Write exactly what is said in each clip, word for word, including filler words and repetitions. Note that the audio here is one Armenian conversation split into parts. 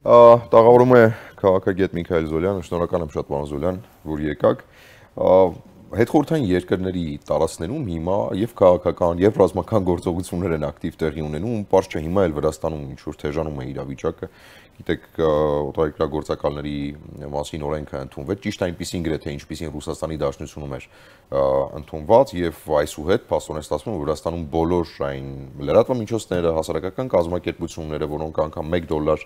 Տաղավարում է քաղաքագետ Միքայել Զոլյանը, շնորհակալ եմ շատ պարոն Զոլյան, որ եկաք։ Հետխորհրդային երկրների տարածքներում հիմա եւ քաղաքական եւ ռազմական գործողություններ են ակտիվ տեղի ունենում, պարզ չէ հիմա էլ Վրաստանում ինչ որ թեժանում է իրավիճակը, գիտեք, օտարերկրագործակալների մասին օրենքը ընդունվեց, ճիշտ այնպիսին գրեթե ինչպիսին Ռուսաստանի Դաշնությունում էր ընդունված եւ այսուհետ փաստորեն ստացվում է Վրաստանում բոլոր այն լրատվամիջոցները, հասարակական կազմակերպությունները, որոնք անգամ մեկ դոլար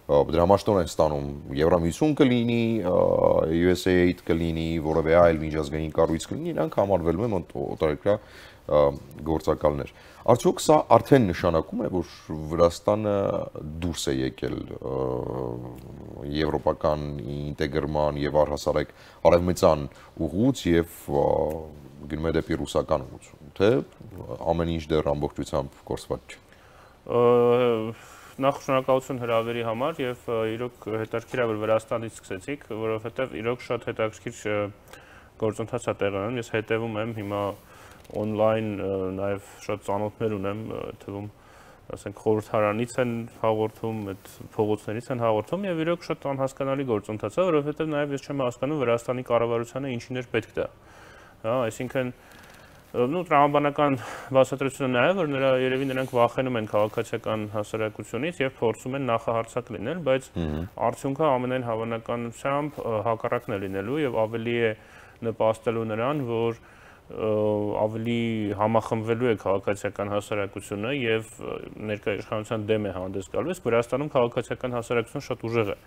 դրամաշտոր են ստանում, Եվրամիություն կլինի, յու էս էյ էյդ կլինի, որևէ այլ միջազգային կառույց կլինի, իրանք համարվելու են օտարերկրյա գործակալներ։ Արդյոք սա արդեն նշանակում է, որ Վրաստանը դուրս է եկել եվրոպական ինտեգրման եւ առհասարակ արևմտյան ուղուց եւ գնում է դեպի ռուսական ուղուց, թե ամեն ինչ դեռ ամբողջությամբ կորսված չէ։ Նախ շնորհակալություն հրավերի համար եւ իրոք հետաքրքիր է որ Վրաստանից սկսեցիք, որովհետեւ իրոք շատ հետաքրքիր գործընթաց է տեղի ունենում։ Ես հետևում եմ հիմա on-line նաեւ շատ ծանոթներ ունեմ, թվում ասենք խորհրդարանից են հաղորդում, այդ փողոցներից են հաղորդում եւ իրոք շատ անհասկանալի գործընթաց է, որովհետեւ նաեւ ես չեմ հասկանում Վրաստանի կառավարությանը ինչին էր պետք դա։ Հա, այսինքն Ну, տրամաբանական բացատրությունը նա է, որ նրա երևի նրանք վախենում են քաղաքացիական հասարակությունից եւ փորձում են նախահարցակ լինել, բայց արդյունքը ամենայն հավանականությամբ հակառակն է լինելու եւ ավելի է նպաստելու նրան, որ ավելի համախմբվելու է քաղաքացիական հասարակությունը եւ ներկայ իշխանության դեմ է հանդես գալու, իսկ Վրաստանում քաղաքացիական հասարակությունը շատ ուժեղ է։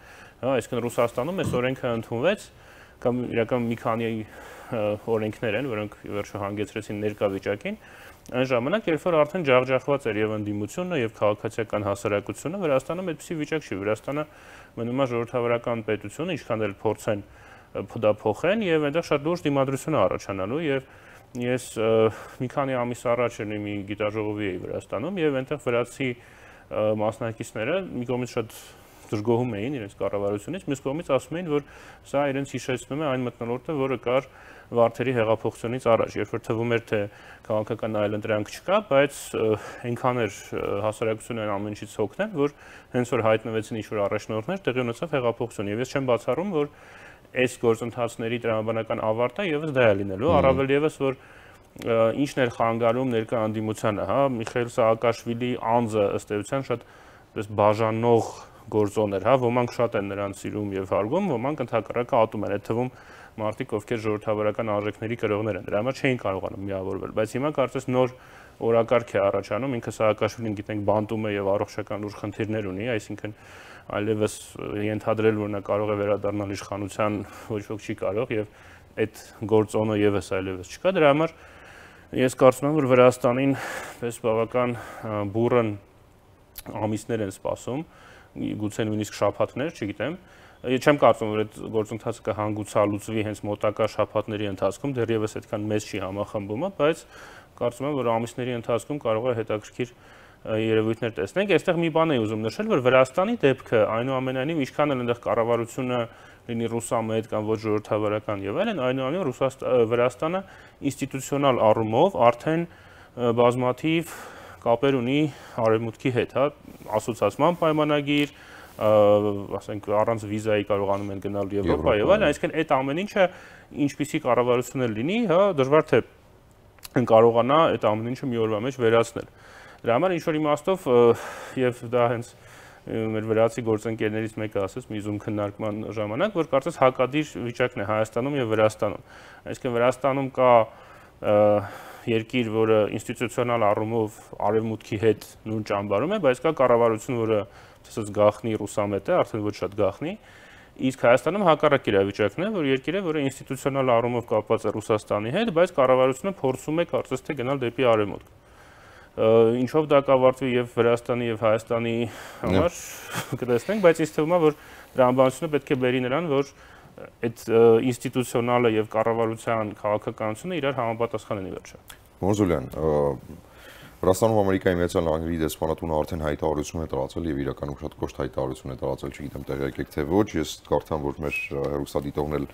Հա, այսինքն Ռուսաստանում այս օրենքը ընդունվեց կամ իրական մի քանի օրենքներ են, որոնք վերջը հանգեցրեցին ներկա վիճակին, այն ժամանակ, երբ որ արդեն ջախջախված էր եւ ընդդիմությունը եւ քաղաքացիական հասարակությունը, Վրաստանում այդպիսի վիճակ չի։ Վրաստանը մնում է ժողովրդավարական պետություն, ինչքան էլ փորձեն դա փոխեն եւ այնտեղ շատ լուրջ դիմադրություն է առաջանալու եւ ես մի քանի ամիս առաջ մի գիտաժողովի էի Վրաստանում եւ այնտեղ վրացի մասնակիցները մի կողմից շատ դժգոհում էին իրենց կառավարությունից, մյուս կողմից ասում էին, որ սա իրենց հիշեցնում է այն մթնոլորտը, որը կար Վարդերի հեղափոխությունից առաջ, երբ որ թվում էր, թե քաղաքական այլընտրանք չկա, բայց այնքան էր հասարակությունը ամեն ինչից հոգնել, որ հենց որ հայտնվեցին ինչ-որ առաջնորդներ, տեղի ունեցավ հեղափոխություն, եւ ես չեմ բացառում, որ այս գործընթացների տրամաբանական ավարտը եւս դա է լինելու, առավել եւս որ ինչն էր խանգարում ներկա ընդդիմությանը, հա, Միխայիլ Սաակաշվիլի անձը ըստ էության շատ պես բաժանող գործոն էր, հա, ոմանք շատ են նրան սիրում եւ հարգում, ոմանք ընդհակառակը ատում են, այդ թվում մարդիկ, ովքեր ժողովրդավարական արժեքների կրողներ են, դրա համար չէին կարողանում միավորվել, բայց հիմա կարծես նոր օրակարգ է առաջանում, ինքը Սաակաշվիլին գիտենք բանտում է եւ առողջական լուրջ խնդիրներ ունի, այսինքն այլևս ենթադրել, որ նա կարող է վերադառնալ իշխանության, ոչ ոք չի կարող եւ այդ գործոնը եւս այլևս չկա, դրա համար ես կարծում եմ, որ Վրաստանին պես բավական բուրըն ամիսներ են սպասում, գուցե նույնիսկ շաբաթներ, չգիտեմ։ Ես չեմ կարծում, որ այդ գործընթացը կհանգուցալուծվի հենց մոտակա շաբաթների ընթացքում, դեռևս այդքան մեծ չի համախմբումը, բայց կարծում եմ, որ ամիսների ընթացքում կարող է հետաքրքիր երևույթներ տեսնենք։ Այստեղ մի բան եմ ուզում նշել, որ Վրաստանի դեպքը այնուամենայնիվ ինչքան էլ այնտեղ կառավարությունը լինի ռուսամետ կամ ոչ ժողովրդավարական եւ այլն, այնուամենայնիվ Վրաստանը ինստիտուցիոնալ առումով արդեն բազմաթիվ կապեր ունի արևմուտքի հետ, հա, ասոցիացիան պայմանագիր, ասենք առանց վիզայի կարողանում են գնալ Եվրոպա եւ այլն, այսինքն այդ ամեն ինչը ինչպիսի կառավարություն էլ լինի, հա, դժվար թե կարողանա այդ ամեն ինչը մի օրվա մեջ վերացնել։ Դրա համար ինչ որ իմաստով եւ դա հենց մեր վրացի գործընկերներից մեկը ասեց մի զում քննարկման ժամանակ, որ կարծես հակադիր վիճակն է Հայաստանում եւ Վրաստանում։ Այսինքն Վրաստանում կա երկիր, որը ինստիտուցիոնալ առումով արևմուտքի հետ նույն ճամբարում է, բայց կա կառավարություն, որը ասես գախնի ռուսամետ է, արդեն ոչ շատ գախնի, իսկ Հայաստանում հակառակ իրավիճակն է, որ երկիր է, որը ինստիտուցիոնալ առումով կապված է Ռուսաստանի հետ, բայց կառավարությունը փորձում է կարծես թե գնալ դեպի արևմուտք։ Ինչով դա կավարտվի եւ Վրաստանի եւ Հայաստանի համար կտեսնենք, բայց ինձ թվում է, որ տրամաբանությունը պետք է բերի նրան, որ այդ ինստիտուցիոնալը եւ կառավարության քաղաքականությունը իրար համապատասխան են ի վերջո։ Մոզուլյան, Վրաստանում Ամերիկայի Միացյալ Նահանգների դեսպանատունը արդեն հայտարարություն է տարածել եւ իրականում շատ կոշտ հայտարարություն է տարածել, չգիտեմ տեղյակ եք թե ոչ, ես կարծեմ, որ մեր հեռուստադիտողն էլ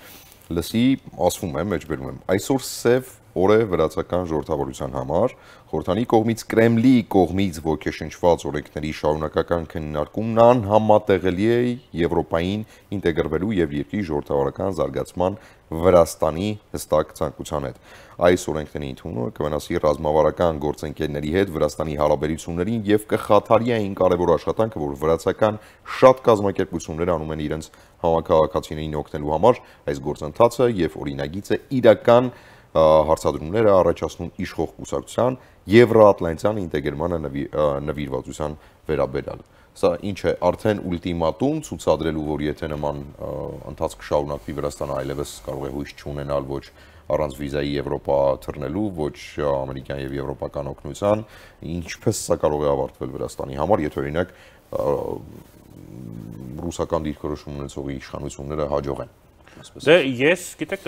լսի, ասվում է, մեջբերում եմ։ Այսօր սև օր է վրացական ժողովրդավարության համար, խորհրդանի կողմից Կրեմլի կողմից ոգեշնչված օրենքների շարունակական քննարկումն անհամատեղելի է Եվրոպային ինտեգրվելու եւ երկրի ժողովրդավարական զարգացման Վրաստանի հստակ ցանկության հետ։ Այս օրենքների ընդունումը կվնասի ռազմավարական գործընկերների հետ Վրաստանի հարաբերություններին եւ կխաթարի այն կարևոր աշխատանքը, որ վրացական շատ կազմակերպություններ անում են իրենց համակարգացիներին օգնելու համար, այս գործընթացը եւ օրինագիծը իրական հարցադրումները առաջացնում իշխող կուսակցության Եվրոատլանտյան ինտեգրմանը նվիրվածության վերաբերյալ։ Սա ինչ է արդեն ուլտիմատում ցուցադրելու, որ եթե նման ընթացք շարունակվի, Վրաստանը այլևս կարող է հույս չունենալ ոչ առանց վիզայի Եվրոպա թռնելու, ոչ ամերիկյան եւ եվրոպական օգնության, ինչպես սա կարող է ավարտվել Վրաստանի համար, եթե օրինակ ռուսական դիրքորոշում ունեցող իշխանությունները հաջող են։ Դե ես, գիտեք,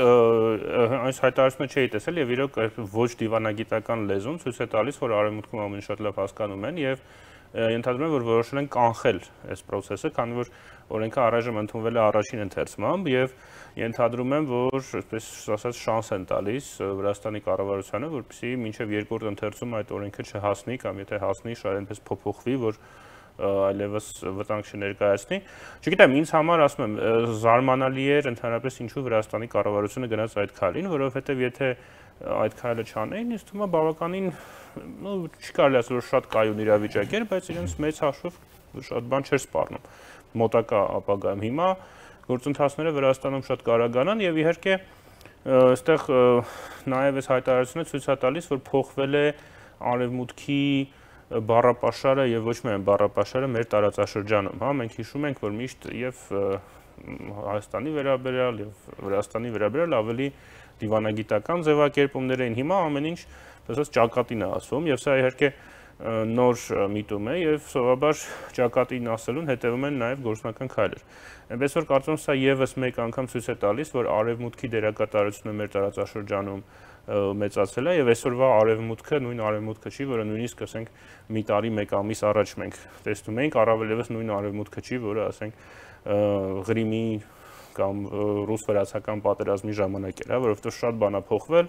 այս հայտարարությունը չէի տեսել եւ իրոք ոչ դիվանագիտական լեզուն ցույց է տալիս, որ արևմուտքում ամեն շատ լավ հասկանում են եւ ենթադրում եմ, որ որոշել են կանխել այս process-ը, քանի որ օրենքը առայժմ ընդունվել է առաջին ընթերցմամբ եւ ենթադրում եմ, որ այսպես ասած շանս են տալիս Վրաստանի կառավարությանը, որպեսզի մինչեւ երկրորդ ընթերցում այդ օրենքը չհասնի կամ եթե հասնի, շատ այնպես փոփոխվի, որ այլևս վտանգ չներկայացնի։ Չգիտեմ, ինձ համար ասում եմ, զարմանալի էր ընդհանրապես ինչու Վրաստանի կառավարությունը գնաց այդ քայլին, որովհետեւ եթե այդ քայլը չանեին, ինձ թվում է բավականին, ну, չի կարելի ասել, որ շատ կայուն իրավիճակ էր, բայց իրենց մեծ հաշվով շատ բան չէր սպառնում մոտակա ապագայում։ Հիմա գործընթացները Վրաստանում շատ կարագանան եւ իհարկե այստեղ նաեւ այս հայտարարությունը ցույց է տալիս, որ փոխվել է արևմուտքի բառապաշարը եւ ոչ միայն բառապաշարը մեր տարածաշրջանում, հա, մենք հիշում ենք, որ միշտ եւ Հայաստանի վերաբերյալ եւ Վրաստանի վերաբերյալ ավելի դիվանագիտական ձևակերպումներ էին, հիմա ամեն ինչ ասած ճակատին է ասվում եւ սա իհարկե նոր միտում է եւ սովորաբար ճակատին ասելուն հետեւում են նաեւ գործնական քայլեր։ Այնպես որ կարծում եմ սա եւս մեկ անգամ ցույց է տալիս, որ արևմուտքի դերակատարությունը մեր տարածաշրջանում մեծացել է եւ այսօրվա արևմուտքը նույն արևմուտքը չի, որը նույնիսկ ասենք մի տարի մեկ ամիս առաջ մենք տեսնում էինք, առավել եւս նույն արևմուտքը չի, որը ասենք Ղրիմի կամ ռուս-վրացական պատերազմի ժամանակ էր, հա, որովհետեւ շատ բան է փոխվել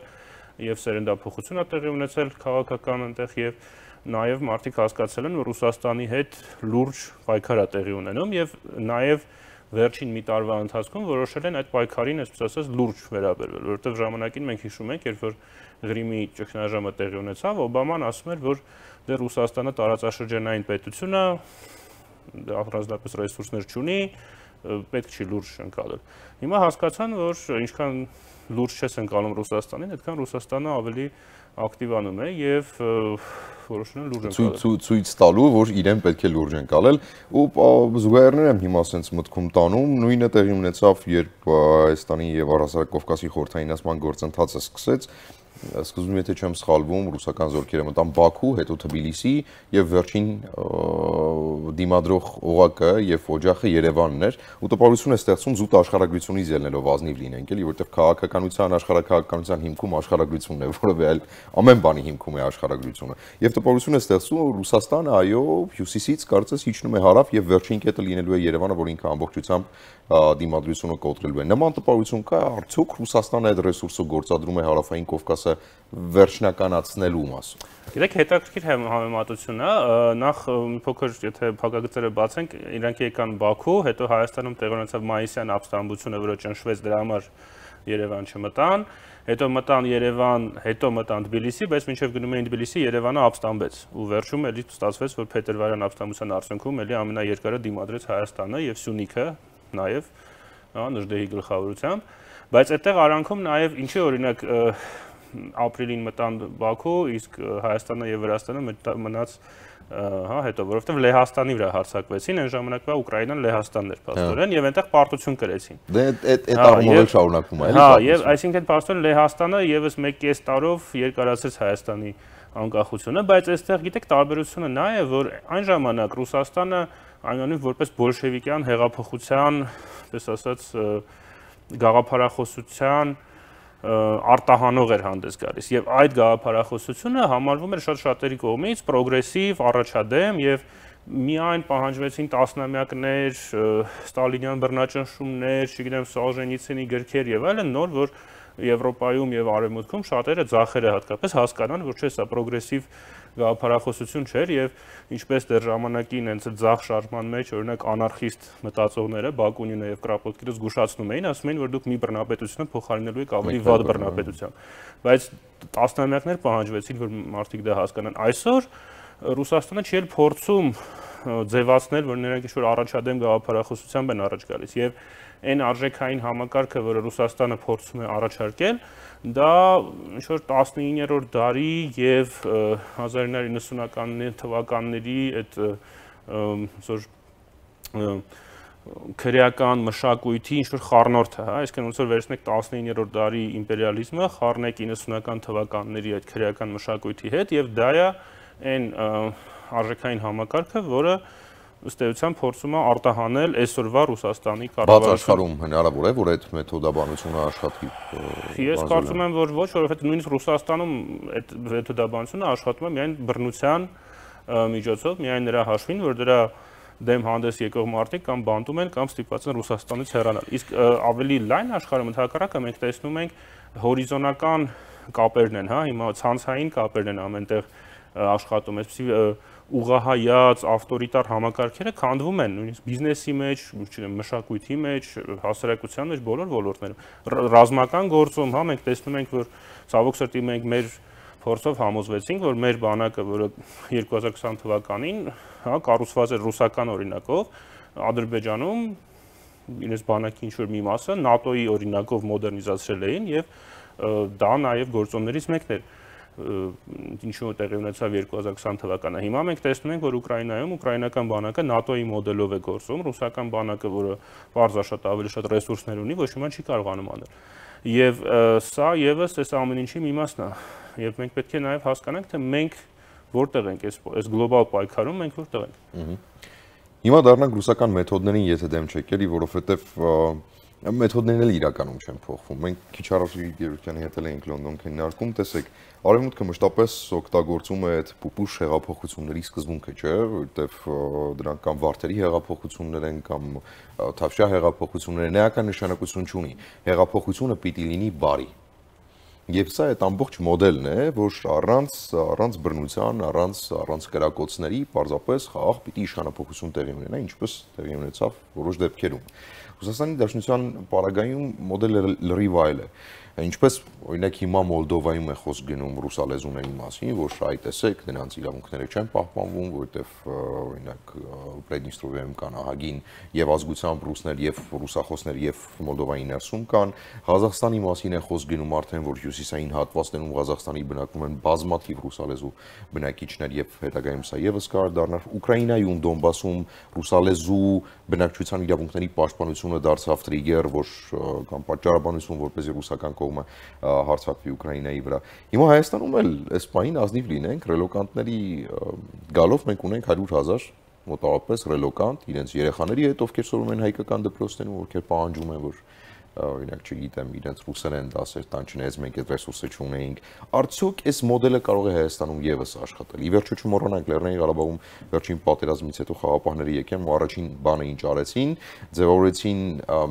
եւ սերնդափոխություն է տեղի ունեցել քաղաքական այնտեղ եւ նաեւ մարդիկ հասկացել են, որ Ռուսաստանի հետ լուրջ պայքար է տեղի ունենում եւ նաեւ վերջին մի տարվա ընթացքում որոշել են այդ պայքարին, այսպես ասած, լուրջ վերաբերվել, որովհետև ժամանակին մենք հիշում ենք, երբ որ Ղրիմի ճգնաժամը տեղի ունեցավ, Օբաման ասում էր, որ դե Ռուսաստանը տարածաշրջանային պետություն է, առանձնապես ռեսուրսներ չունի, պետք չի լուրջ ընկալել։ Հիմա հասկացան, որ ինչքան լուրջ չես ընկալում Ռուսաստանին, այդքան Ռուսաստանը ավելի ակտիվանում է եւ որոշում են լուրջ ընկալել։ Ցույց տալու, որ իրեն պետք է լուրջ ընկալել ու զուգահեռներ եմ հիմա ասենց մտքում տանում, նույնը տեղի ունեցավ, երբ Հայաստանի եւ Առհասարակ Կովկասի խորհրդայնացման գործընթացը սկսեց, սկզբում եթե չեմ սխալվում, ռուսական զորքերը մտան Բաքու, հետո Թբիլիսի եւ վերջին դիմադրող օղակը եւ օջախը Երևանն էր, ու տպավորություն է ստեղծում զուտ աշխարհագրությունից ելնելով ազնիվ լինենք, էլի, որտեղ քաղաքականության, աշխարհակահաղականության հիմքում աշխարհագրությունն է, որովհետեւ այլ ամեն բանի հիմքում է աշխարհագրությունը։ Եվ տպավորություն է ստեղծում, որ Ռուսաստանը, այո, հյուսիսից կարծես իջնում է հարավ եւ վերջին կետը լինելու է Երևանը, որ ինքը ամբողջությամբ դիմադրությունը կոտրելու է։ Նման տպավորություն կա, արդյոք Ռուսաստանը այդ ռեսուրսը գործադրում է հարավային Կովկասը վերջնականացնելու մասը։ Գիտեք, հետաքրքիր համեմատություն է, նախ մի փոքր եթե փակագծերը բացենք, իրանք եկան Բաքու, հետո Հայաստանում տեղի ունեցավ մայիսյան ապստամբությունը, որը ճնշվեց, դրա համար Երևան չմտան, հետո մտան Երևան, հետո մտան Թբիլիսի, բայց մինչև գնում էին Թբիլիսի, Երևանը ապստամբեց ու վերջում էլի ստացվեց, որ փետրվարյան ապստամբության արդյունքում էլի ամենաերկարը դիմադրեց Հայաստանը եւ Սյունիքը նաեւ, հա, Նժդեհի գլխավորությամբ, բայց այդտեղ արանքում նաեւ ինչի օրինակ ապրիլին մտան Բաքու, իսկ Հայաստանը եւ Վրաստանը մնաց, հա, հետո, որովհետեւ Լեհաստանի վրա հարձակվեցին, այն ժամանակվա Ուկրաինան Լեհաստանն էր փաստորեն եւ այնտեղ պարտություն կրեցին։ Դե այդ այդ առումով էլ շարունակվում է, էլի։ Հա, եւ այսինքն փաստորեն Լեհաստանը եւս մեկ կես տարով երկարացրեց Հայաստանի անկախությունը, բայց այստեղ գիտեք տարբերությունը նա է, որ այն ժամանակ Ռուսաստանը այնուամենայնիվ որպես բոլշևիկյան հեղափոխության, այսպես ասած, գաղափարախոսության արտահանող էր հանդես գալիս եւ այդ գաղափարախոսությունը համարվում էր շատ շատերի կողմից պրոգրեսիվ, առաջադեմ եւ միայն պահանջվեցին տասնամյակներ, ստալինյան բռնաճնշումներ, չգիտեմ, Սոլժենիցինի գրքեր եւ այլն, նոր որ Եվրոպայում եւ Արևմուտքում շատերը ձախերը հատկապես հասկանան, որ չէ, սա պրոգրեսիվ գաղափարախոսություն չէր եւ ինչպես դեռ ժամանակին հենց այդ ձախ շարժման մեջ օրինակ անարխիստ մտածողները Բակունինը եւ Կրապոտկինը զգուշացնում էին, ասում էին, որ դուք մի բռնապետությունը փոխարինելու եք ավելի վատ բռնապետությամբ, բայց տասնամյակներ պահանջվեցին, որ մարդիկ դա հասկանան։ Այսօր Ռուսաստանը չի էլ փորձում ձևացնել, որ նրանք ինչ-որ առաջադեմ գաղափարախոսությամբ են առաջ գալիս եւ այն արժեքային համակարգը, որը Ռուսաստանը փորձում է առաջարկել, դա ինչ-որ տասնիններորդ դարի եւ հազար ինը հարյուր իննսունականների թվականների այդ ինչ-որ քրեական մշակույթի ինչ-որ խառնորդ է, հա, այսինքն ոնց որ վերցնեք տասնիններորդ դարի իմպերիալիզմը, խառնեք իննսունական թվականների այդ քրեական մշակույթի հետ եւ դա է այն արժեքային համակարգը, որը ըստ էության փորձում է արտահանել այսօրվա Ռուսաստանի կառավարությունը։ Բաց աշխարհում հնարավոր է, որ այդ մեթոդաբանությունը աշխատի։ Ես կարծում եմ, որ ոչ, որովհետեւ նույնիսկ Ռուսաստանում այդ մեթոդաբանությունը աշխատում է միայն բռնության միջոցով, միայն նրա հաշվին, որ դրա դեմ հանդես եկող մարդիկ կամ բանտում են կամ ստիպված են Ռուսաստանից հեռանալ։ Իսկ ավելի լայն աշխարհում ընդհակառակը մենք տեսնում ենք հորիզոնական կապերն են, հա, հիմա ցանցային կապերն են ամենտեղ աշխատում, այսպեսի ուղղահայաց ավտորիտար համակարգերը քանդվում են նույնիսկ բիզնեսի մեջ, չգիտեմ, մշակույթի մեջ, հասարակության մեջ բոլոր ոլորտներում։ Ռազմական գործում, հա, մենք տեսնում ենք, որ ցավոք սրտի մենք մեր փորձով համոզվեցինք, որ մեր բանակը, որը երկու հազար քսան թվականին, հա, կառուցված էր ռուսական օրինակով, Ադրբեջանում իրենց բանակի ինչ-որ մի մասը ՆԱՏՕ-ի օրինակով մոդեռնիզացրել էին եւ դա նաեւ գործոններից մեկն էր, ինչու տեղի ունեցավ երկու հազար քսան թվականը։ Հիմա մենք տեսնում ենք, որ Ուկրաինայում ուկրաինական բանակը ՆԱՏՕ-ի մոդելով է գործում, ռուսական բանակը, որը պարզաշատ ավելի շատ ռեսուրսներ ունի, ոչ մի բան չի կարողանում անել։ Եվ սա եւս այս ամեն ինչի մի մասն է։ Եվ մենք պետք է նաեւ հասկանանք, թե մենք որտեղ ենք այս այս գլոբալ պայքարում, մենք որտեղ ենք։ Հիմա դառնանք ռուսական մեթոդներին, եթե դեմ չեք ելի, որովհետեւ մեթոդներն էլ իրականում չեն փոխվում։ Մենք քիչ առաջ Գերույթյանի հետ էինք Լոնդոն քննարկում, տեսեք, Արևմուտքը մշտապես օգտագործում է այդ պուպուշ հեղափոխությունների սկզբունքը, չէ՞, որտեվ դրանք կամ վարդերի հեղափոխություններ են, կամ թավշյա հեղափոխություններ են, էական նշանակություն չունի։ Հեղափոխությունը պիտի լինի բարի։ Եվ սա այդ ամբողջ մոդելն է, որ առանց առանց բռնության, առանց առանց կրակոցների պարզապես խաղաղ պիտի իշխանապողություն տեղի ունենա, ինչպես տեղի ունեցավ որոշ դեպքերում։ Ռուսաստանի Դաշնության պարագայում մոդելը լրիվ այլ է։ Ինչպես օրինակ հիմա Մոլդովայում է խոսք գնում ռուսալեզուների մասին, որ այ տեսեք, նրանց իրավունքները չեն պահպանվում, որովհետև օրինակ Պրեդնիստրովիայում կան ահագին եւ ազգությամբ ռուսներ եւ ռուսախոսներ եւ Մոլդովայի ներսում կան։ Ղազախստանի մասին է խոսք գնում արդեն, որ հյուսիսային հատվածներում Ղազախստանի բնակվում են բազմաթիվ ռուսալեզու բնակիչներ եւ հետագայում սա եւս կարող դառնալ։ Ուկրաինայում, Դոնբասում ռուսալեզու բնակչության իրավունքների պաշտպանությունը դարձավ տրիգեր, որ կամ պատճառաբանություն, որպեսզի ռուսական կողմը հարձակվի Ուկրաինայի վրա։ Հիմա Հայաստանում էլ այս պահին ազնիվ լինենք, ռելոկանտների գալով մենք ունենք հարյուր հազար մոտավորապես ռելոկանտ, իրենց երեխաների հետ, ովքեր սովորում են հայկական դպրոցներում, ովքեր պահանջում են, որ օրինակ չգիտեմ, իրենց ռուսերեն դասեր տան, չնայած մենք այդ ռեսուրսը չունեինք։ Արդյոք այս մոդելը կարող է Հայաստանում եւս աշխատել։ Ի վերջո չմոռանանք, Լեռնային Ղարաբաղում վերջին պատերազմից հետո խաղապահները եկան ու առաջին բանը ինչ արեցին, ձևավորեցին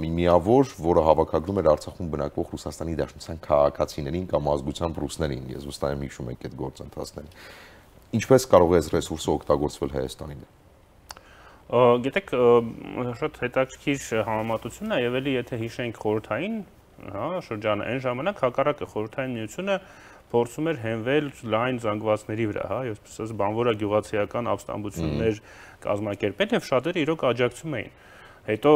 մի միավոր, որը հավաքագրում էր Արցախում բնակվող Ռուսաստանի Դաշնության քաղաքացիներին կամ ազգությամբ ռուսներին։ Ես վստահ եմ հիշում եք այդ գործընթացները։ Ինչպես կարող է այս ռեսուրսը օգտագործվել Հայաստանի դեմ։ Գիտեք, շատ հետաքրքիր համեմատությունն է, եւ էլի եթե հիշենք խորհրդային, հա, շրջանը, այն ժամանակ հակառակը խորհրդային միությունը փորձում էր հենվել լայն զանգվածների վրա, հա, այսպես բանվորա գյուղացիական ապստամբություններ կազմակերպել եւ շատերը իրոք աջակցում էին։ Հետո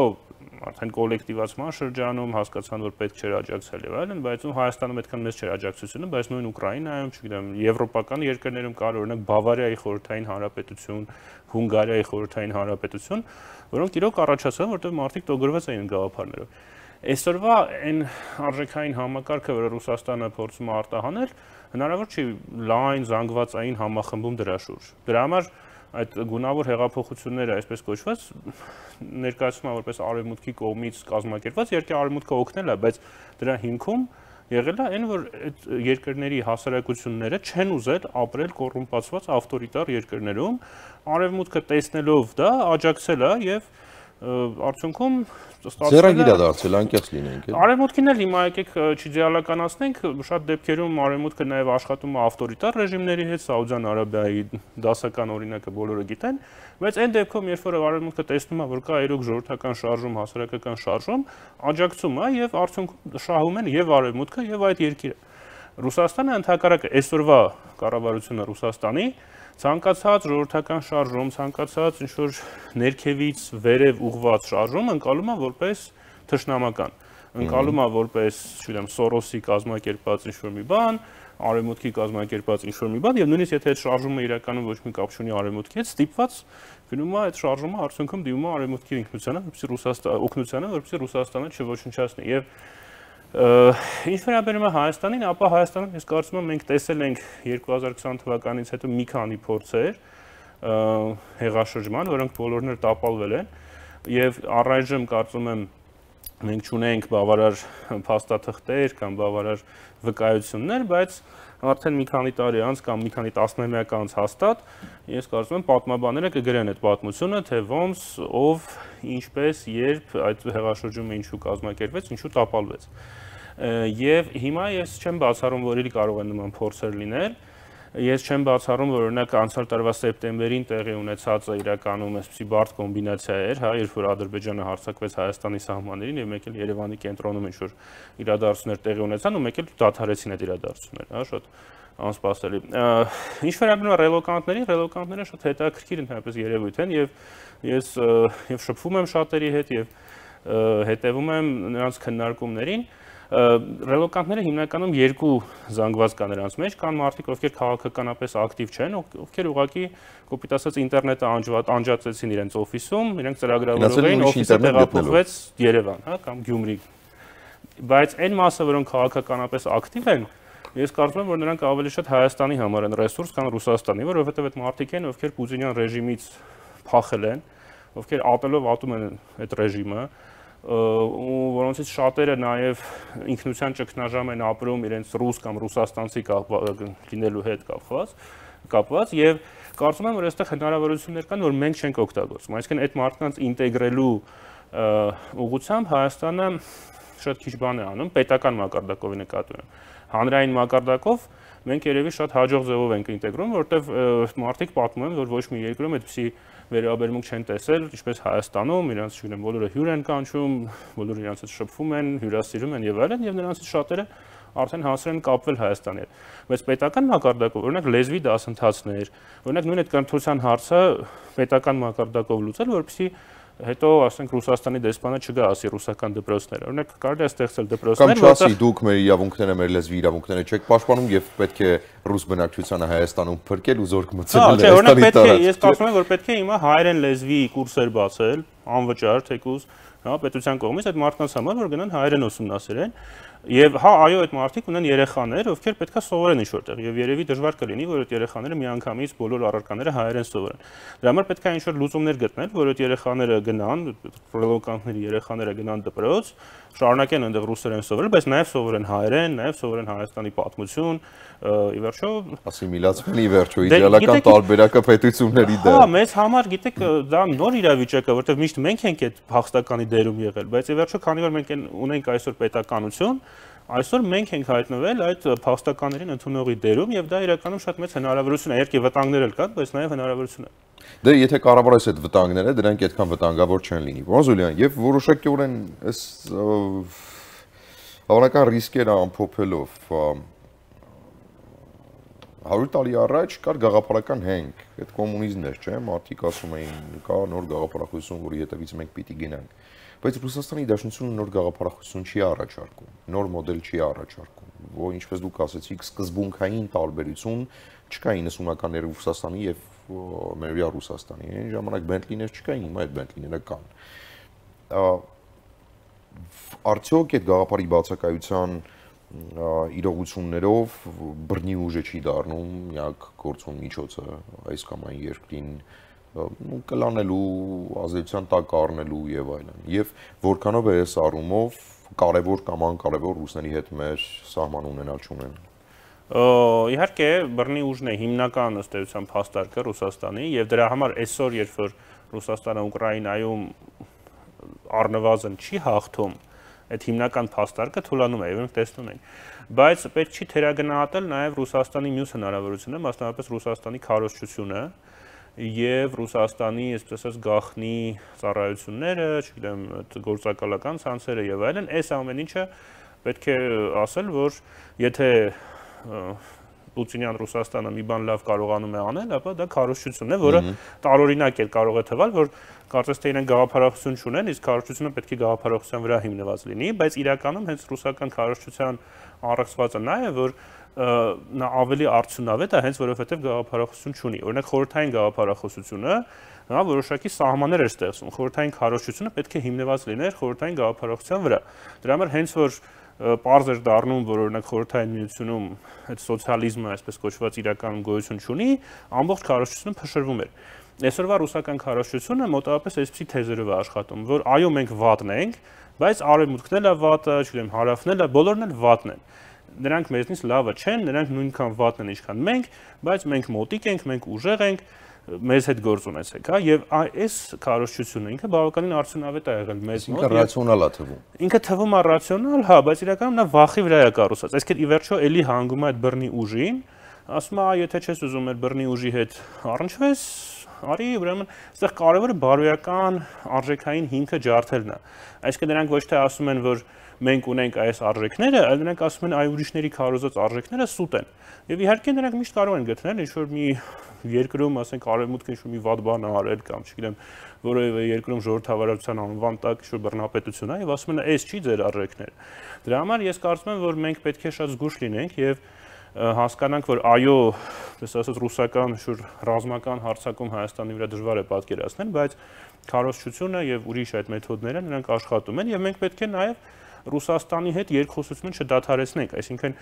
արդեն կոլեկտիվացման շրջանում հասկացան, որ պետք չէր աջակցել եւ այլն, բայց ու Հայաստանում այդքան մեծ չէր աջակցությունը, բայց նույն Ուկրաինայում, չգիտեմ, եվրոպական երկրներում կար օրինակ Բավարիայի խորհրդային հանրապետություն, Հունգարիայի խորհրդային հանրապետություն, որոնք իրոք առաջացան, որտեղ մարդիկ տոգրված էին գաղափարներով։ Այսօրվա այն արժեքային համակարգը, որը Ռուսաստանը փորձում է արտահանել, հնարավոր չի լայն զանգվածային համախմբում դրա շուրջ։ Դրա համար այդ գունավոր հեղափոխությունները, այսպես կոչված, ներկայացվում են որպես արևմուտքի կողմից կազմակերպված, իհարկե արևմուտքը օգնել է, բայց դրա հիմքում եղել է այն, որ այդ երկրների հասարակությունները չեն ուզել ապրել կոռումպացված ավտորիտար երկրներում, արևմուտքը տեսնելով դա աջակցել է եւ արդյունքում Ձեռագիր է դարձել, անկեղծ լինենք։ Արևմուտքին էլ հիմա եկեք չիդեալականացնենք, շատ դեպքերում արևմուտքը նաև աշխատում է ավտորիտար ռեժիմների հետ, Սաուդյան Արաբիայի դասական օրինակը բոլորը գիտեն, բայց այն դեպքում, երբ որ արևմուտքը տեսնում է, որ կա իրոք ժողովրդական շարժում, հասարակական շարժում, աջակցում է եւ արդյունքում շահում են եւ արևմուտքը եւ այդ երկիրը։ Ռուսաստանը ընդհակառակը այսօրվա կառավարությունը Ռուսաստանի ցանկացած ժողովրդական շարժում, ցանկացած ինչ-որ ներքևից վերև ուղղված շարժում ընկալում է որպես թշնամական, ընկալում է որպես, չգիտեմ, Սորոսի կազմակերպած ինչ-որ մի բան, արևմուտքի կազմակերպած ինչ-որ մի բան, եւ նույնիսկ եթե այդ շարժումը իրականում ոչ մի կապ չունի արևմուտքի հետ, ստիպված գնում է այդ շարժումը արդյունքում դիմում է արևմուտքի ինքնությանը, որպեսզի Ռուսաստանը օգնությանը, որպեսզի Ռուսաստանը չոչնչացնի եւ Ինչ վերաբերում է Հայաստանին, ապա Հայաստանում ես կարծում եմ մենք տեսել ենք երկու հազար քսան թվականից հետո մի քանի փորձեր հեղաշրջման, որոնք բոլորն էլ տապալվել են եւ առայժմ կարծում եմ մենք չունենք բավարար փաստաթղթեր կամ բավարար վկայություններ, բայց արդեն մի քանի տարի անց կամ մի քանի տասնամյակ անց հաստատ ես կարծում եմ պատմաբանները կգրեն այդ պատմությունը, թե ոնց, ով, ինչպես, երբ այդ հեղաշրջումը ինչու կազմակերպվեց, ինչու տապալվեց։ Եվ հիմա ես չեմ բացառում, որ իրի կարող են նման փորձեր լինել։ Ես չեմ բացառում, որ օրինակ անցյալ տարվա սեպտեմբերին տեղի ունեցածը իրականում այսպիսի բարդ կոմբինացիա էր, հա, երբ որ Ադրբեջանը հարձակվեց Հայաստանի սահմաններին եւ մեկ էլ Երևանի կենտրոնում ինչ-որ իրադարձություններ տեղի ունեցան ու մեկ էլ դադարեցին այդ իրադարձությունները, հա, շատ անսպասելի։ Ինչ վերաբերում է ռելոկանտներին, ռելոկանտները շատ հետաքրքիր ընդհանրապես երևույթ են եւ ես եւ շփվում եմ շատերի հետ եւ հետեւում եմ նրանց քննարկումներին։ Ռելոկանտները հիմնականում երկու զանգված կա նրանց մեջ, կան մարդիկ, ովքեր քաղաքականապես ակտիվ չեն, ովքեր ուղղակի կոպիտ ասած ինտերնետը անջատեցին իրենց օֆիսում, իրենք ծրագրավորող էին, օֆիսը տեղափոխվեց Երևան, հա, կամ Գյումրի։ Բայց այն մասը, որոնք քաղաքականապես ակտիվ են, ես կարծում եմ, որ նրանք ավելի շատ Հայաստանի համար են ռեսուրս, քան Ռուսաստանի, որովհետև այդ մարդիկ են, ովքեր Պուտինյան ռեժիմից փախել են, ովքեր ատելով ատում են այդ ռեժիմը, ու որոնցից շատերը նաև ինքնության ճգնաժամ են ապրում իրենց ռուս կամ ռուսաստանցի լինելու հետ կապված, կապված եւ կարծում եմ, որ այստեղ հնարավորություններ կան, որ մենք չենք օգտագործում։ Այսինքն այդ մարդկանց ինտեգրելու ուղղությամբ Հայաստանը շատ քիչ բան է անում, պետական մակարդակով նկատի ունեմ։ Հանրային մակարդակով մենք երևի շատ հաջող ձևով ենք ինտեգրում, որովհետեւ մարդիկ պատմում են, որ ոչ մի երկրում այդպիսի վերաբերմունք չեն տեսել, ինչպես Հայաստանում, իրանց չգիտեմ, բոլորը հյուր են կանչում, բոլորը իրանց հետ շփվում են, հյուրասիրում են եւ այլն, եւ նրանցից շատերը արդեն հասել են կապվել Հայաստանի հետ։ Բայց պետական մակարդակով, օրինակ լեզվի դասընթացներ, օրինակ նույն այդ կրթության հարցը պետական մակարդակով լուծել, որպեսզի հետո ասենք Ռուսաստանի դեսպանը չգա ասի ռուսական դպրոցներ։ Օրինակ կարելի է ստեղծել դպրոցներ, որտեղ կամ չասի դուք մեր իրավունքները, մեր լեզվի իրավունքները չեք պաշտպանում եւ պետք է ռուս բնակչությանը Հայաստանում փրկել ու զորք մտցնել Հայաստանի տարածք։ Ես կարծում եմ, որ պետք է հիմա հայերեն լեզվի կուրսեր բացել, անվճար, թեկուզ, հա, պետության կողմից այդ մարդկանց համար, որ գնան հայերեն ուսումնասիրեն։ Եվ հա, այո, այդ մարդիկ ունեն երեխաներ, ովքեր պետքա սովորեն ինչ-որտեղ, եւ երևի դժվար կլինի, որ այդ երեխաները միանգամից բոլոր առարկաները հայերեն սովորեն։ Դրա համար պետքա ինչ-որ լուծումներ գտնել, որ այդ երեխաները գնան, ռելոկանտների երեխաները գնան դպրոց, շարունակեն այնտեղ ռուսերեն սովորել, բայց նաեւ սովորեն հայերեն, նաեւ սովորեն Հայաստանի պատմություն, ի վերջո ասիմիլացվեն ի վերջո իդեալական տարբերակը պետությունների դեր։ Հա, մեզ համար, գիտեք, դա նոր իրավիճակ է, որտեղ միշտ մենք ենք այդ փախստականի դերում եղել, բայց ի վերջո քանի որ մենք ունենք այսօր պետականություն, այսօր մենք ենք հայտնվել այդ փախստականներին ընդունողի դերում եւ դա իրականում շատ մեծ հնարավորություն է, երկի վտանգներ էլ կան, բայց նաեւ հնարավորություն է։ Դե եթե կառավարես այդ վտանգները, դրանք այդքան վտանգավոր չեն լինի։ Ոնզուլյան, եւ որոշակիորեն այս հավանական ռիսկերը ամփոփելով հարյուր տարի առաջ կար գաղափարական հենք, այդ կոմունիզմն էր, չէ՞, մարդիկ ասում էին, կա նոր գաղափարախոսություն, որի հետևից մենք պիտի գնանք։ Բայց Ռուսաստանի Դաշնությունը նոր գաղափարախոսություն չի առաջարկում, նոր մոդել չի առաջարկում, որ ինչպես դուք ասացիք, սկզբունքային տարբերություն չկա իննսունականների Ռուսաստանի եւ Մերվիա Ռուսաստանի։ Այն ժամանակ Բենտլիներ չկային, հիմա այդ Բենտլիները կան։ Արդյոք այդ գաղափարի բացակայության իրողություններով բռնի ուժը չի դառնում միակ գործուն միջոցը այս կամ այն երկրին կլանելու, ազդեցության տակ առնելու եւ այլն։ Եվ որքանով է այս առումով կարևոր կամ անկարևոր ռուսների հետ մեր սահման ունենալ չունեն։ Իհարկե, բռնի ուժն է հիմնական ըստ էության փաստարկը Ռուսաստանի եւ դրա համար այսօր երբ որ Ռուսաստանը Ուկրաինայում առնվազն չի հաղթում, այդ հիմնական փաստարկը թուլանում է, եւ մենք տեսնում ենք։ Բայց պետք չի թերագնահատել նաեւ Ռուսաստանի մյուս հնարավորությունը, մասնավորապես Ռուսաստանի քարոզչությունը եւ Ռուսաստանի, այսպես ասած, գաղտնի ծառայությունները, չգիտեմ, գործակալական ցանցերը եւ այլն, այս ամեն ինչը պետք է ասել, որ եթե Պուտինյան Ռուսաստանը մի բան լավ կարողանում է անել, ապա դա քարոզչությունն է, որը տարօրինակ է կարող է թվալ, որ կարծես թե իրենք գաղափարախոսություն չունեն, իսկ քարոզչությունը պետք է գաղափարախոսության վրա հիմնված լինի, բայց իրականում հենց ռուսական քարոզչության առեղծվածը նա է, որ նա ավելի արդյունավետ է, հենց որովհետև գաղափարախոսություն չունի։ Օրինակ խորհրդային գաղափարախոսությունը նա որոշակի սահմաններ էր ստեղծում։ Խորհրդային քարոզչությունը պետք է հիմնված լիներ խորհրդային գաղափարախոսության վրա։ Դրա համար հենց որ պարզ էր դառնում, որ օրինակ խորհրդային միությունում այդ սոցիալիզմը, այսպես կոչված, իրականում գոյություն չունի, ամբողջ քարոզչությունը փշրվում էր։ Այսօրվա ռուսական քարոզչությունը մոտավորապես այսպիսի թեզերով է աշխատում, որ այո, մենք վատն ենք, բայց արևմուտքն էլ է վատը, չգիտեմ, հարավն էլ է, բոլորն էլ վատն են։ Նրանք մեզնից լավը չեն, նրանք նույնքան վատն են, ինչքան մենք, բայց մենք մոտիկ ենք, մենք ուժեղ ենք, մեզ հետ գործ ունեցեք, հա, եւ այս քարոզչությունը ինքը բավականին արդյունավետ է եղել մեզ մոտ։ Ինքը ռացիոնալ է թվում։ Ինքը թվում է ռացիոնալ, հա, բայց իրականում նա վախի վրա է կառուցված։ Այսինքն ի վերջո էլի հանգում է այդ բռնի ուժին, ասում է, եթե չես ուզում այդ բռնի ուժի հետ առնչվես, արի, ուրեմն, այստեղ կարևորը բարոյական արժեքային հիմքը ջարդելն է։ Այսինքն նրանք ոչ թե ասում են, որ մենք ունենք այս արժեքները, այլ նրանք ասում են, այ ուրիշների քարոզած արժեքները սուտ են։ Եվ իհարկե նրանք միշտ կարող են գտնել ինչ-որ մի երկրում, ասենք, արևմուտքը ինչ-որ մի վատ բան արել կամ, չգիտեմ, որևէ երկրում ժողովրդավարության անվան տակ ինչ-որ բռնապետություն է, եւ ասում են, այս չի ձեր արժեքները։ Դրա համար ես կարծում եմ, որ մենք պետք է շատ զգուշ լինենք եւ հասկանանք, որ այո, այսպես ասած, ռուսական ինչ-որ ռազմական հարձակում Հայաստանի վրա դժվար է պատկերացնել, բայց քարոզչությունը եւ ուրիշ այդ մեթոդները նրանք աշխատում են եւ մենք պետք է նաեւ Ռուսաստանի հետ երկխոսությունը չդադարեցնենք, այսինքն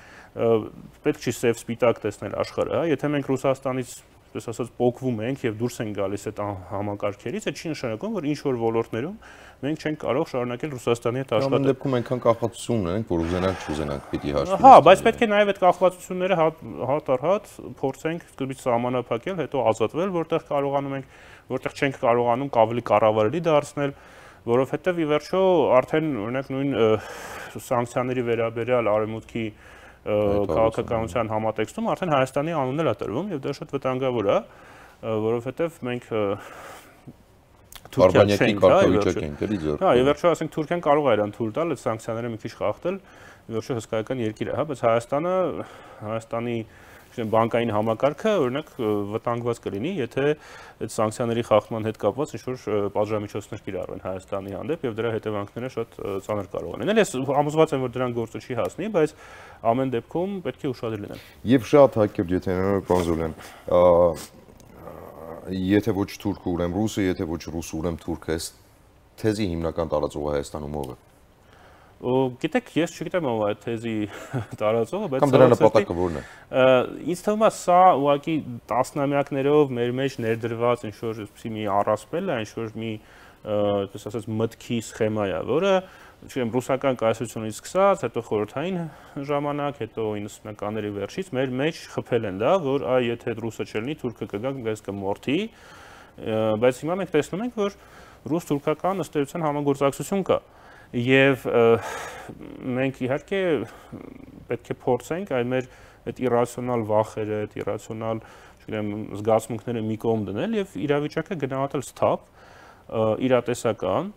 պետք չի սև սպիտակ տեսնել աշխարհը, հա, եթե մենք Ռուսաստանից, այսպես ասած, պոկվում ենք եւ դուրս ենք գալիս այդ համակարգերից, այդ չի նշանակում, որ ինչ որ ոլորտներում մենք չենք կարող շարունակել Ռուսաստանի հետ աշխատել։ Ամեն դեպքում այնքան կախվածություն ունենք, որ ուզենանք չուզենանք պիտի հաշվի։ Հա, բայց պետք է նաեւ այդ կախվածությունները հատ առ հատ փորձենք սկզբից սահմանափակել, հետո ազատվել, որտեղ կարողանում ենք, որտեղ չենք կարողանում ավելի կառավարելի դարձնել, որովհետև ի վերջո արդեն օրինակ նույն սանկցիաների վերաբերյալ արևմուտքի քաղաքականության համատեքստում արդեն Հայաստանի անունն է տրվում եւ դա շատ վտանգավոր է, որովհետև մենք Թուրքիան չենք, հա, ի վերջո ասենք Թուրքիան կարող է իրան թույլ տալ այդ սանկցիաները մի քիչ խախտել, ի վերջո հսկայական երկիր է, հա, բայց Հայաստանը, Հայաստանի բանկային համակարգը օրինակ վտանգված կլինի, եթե այդ սանկցիաների խախտման հետ կապված ինչ-որ պատժամիջոցներ կիրառվեն Հայաստանի հանդեպ եւ դրա հետևանքները շատ ծանր կարող են լինել։ Ես համոզված եմ, որ դրան գործը չի հասնի, բայց ամեն դեպքում պետք է ուշադիր լինել։ Եվ շատ հակերտ, եթե Կոնզոլյան, եթե ոչ թուրքը, ուրեմն ռուսը, եթե ոչ ռուսը, ուրեմն թուրքը, այս թեզի հիմնական տարածողը Հայաստանում ով է։ Գիտեք, ես չգիտեմ ով է այդ թեզի տարածողը, բայց կամ դրա նպատակը որն է։ Ինձ թվում է սա ուղղակի տասնամյակներով մեր մեջ ներդրված ինչ-որ մի առասպել է, ինչ-որ մի, այսպես ասած, մտքի սխեմա է, որը, չգիտեմ, ռուսական կայսրությունից սկսած, հետո խորհրդային ժամանակ, հետո իննսունականների վերջից մեր մեջ խփել են դա, որ այ եթե ռուսը չլինի, թուրքը կգա, մեզ կմորթի, բայց հիմա մենք տեսնում ենք, որ ռուս-թուրքական ըստ էության համագործակցություն կա։ Եվ մենք իհարկե պետք է փորձենք այդ մեր այդ իրացիոնալ վախերը, այդ իրացիոնալ, չգիտեմ, զգացմունքները մի կողմ դնել եւ իրավիճակը գնահատել սթափ, իրատեսական,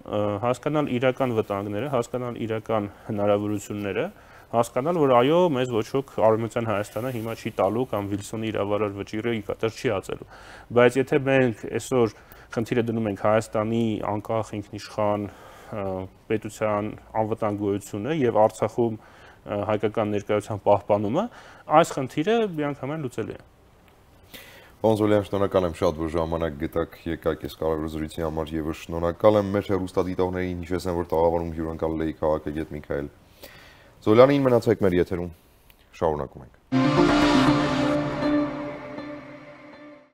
հասկանալ իրական վտանգները, հասկանալ իրական հնարավորությունները, հասկանալ, որ այո, մեզ ոչ ոք Արևմտյան Հայաստանը հիմա չի տալու կամ Վիլսոնի իրավարար վճիռը ի կատար չի ածելու։ Բայց եթե մենք այսօր խնդիրը դնում ենք Հայաստանի անկախ ինքնիշխան պետության անվտանգ գոյությունը եւ Արցախում հայկական ներկայության պահպանումը, այս խնդիրը միանգամայն լուծելի է։ Կոնզոլյան, շնորհակալ եմ շատ, որ ժամանակ գտաք, եկաք այս կարևոր զրույցի համար եւ շնորհակալ եմ մեր հեռուստադիտողներին, հիշեցնեմ, որ տաղավարում հյուրընկալել էի քաղաքագետ Միքայել Զոլյանին, մնացեք մեր եթերում, շարունակում ենք։